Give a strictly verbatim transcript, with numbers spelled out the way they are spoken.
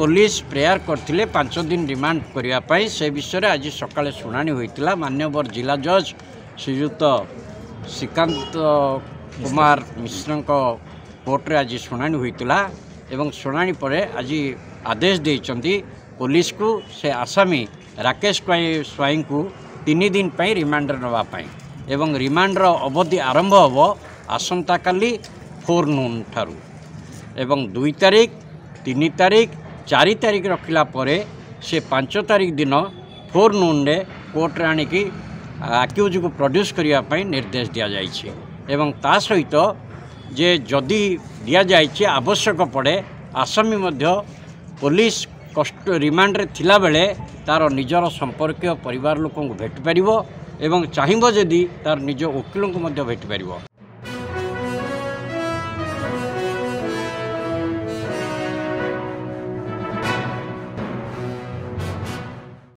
Police prayer କରିଥିଲେ ପାଞ୍ଚ ଦିନ ରିମାଣ୍ଡ କରିବା ପାଇଁ। ସେ ବିଷୟରେ ଆଜି ସକାଳେ ଶୁଣାଣି ହୋଇଥିଲା। ମାନ୍ୟବର ଜିଲ୍ଲା ଜଜ୍ ଶ୍ରୀଯୁକ୍ତ ଶ୍ରୀକାନ୍ତ କୁମାର ମିଶ୍ରଙ୍କ କୋର୍ଟରେ ଆଜି ଶୁଣାଣି ହୋଇଥିଲା ଏବଂ ଶୁଣାଣି ପରେ ଆଜି ଆଦେଶ ଦେଇଛନ୍ତି ପୋଲିସକୁ ସେ ଆସାମୀ ରାକେଶ ସ୍ୱାଇଁଙ୍କୁ ତିନି ଦିନ ପାଇଁ ରିମାଣ୍ଡରେ ନେବା ପାଇଁ, ଏବଂ ରିମାଣ୍ଡର ଅବଧି ଆରମ୍ଭ ହେବ ଆସନ୍ତାକାଲି ଫୋର୍ ନୁନ୍ ଠାରୁ ଏବଂ ଦୁଇ ତାରିଖ, ତିନି ତାରିଖ, ଚାରି ତାରିଖ ରଖିଲା ପରେ ସେ ପାଞ୍ଚ ତାରିଖ ଦିନ ଫୋର୍ ନୁନ୍ରେ କୋର୍ଟରେ ଆଣିକି ଆକ୍ୟୁଜ୍କୁ ପ୍ରଡ୍ୟୁସ୍ କରିବା ପାଇଁ ନିର୍ଦ୍ଦେଶ ଦିଆଯାଇଛି। ଏବଂ ତା ସହିତ ଯେ ଯଦି ଦିଆଯାଇଛି ଆବଶ୍ୟକ ପଡ଼େ, ଆସାମୀ ମଧ୍ୟ ପୋଲିସ କଷ୍ଟ ରିମାଣ୍ଡରେ ଥିଲାବେଳେ ତା'ର ନିଜର ସମ୍ପର୍କୀୟ ପରିବାର ଲୋକଙ୍କୁ ଭେଟିପାରିବ ଏବଂ ଚାହିଁବ ଯଦି ତା'ର ନିଜ ଓକିଲଙ୍କୁ ମଧ୍ୟ ଭେଟିପାରିବ।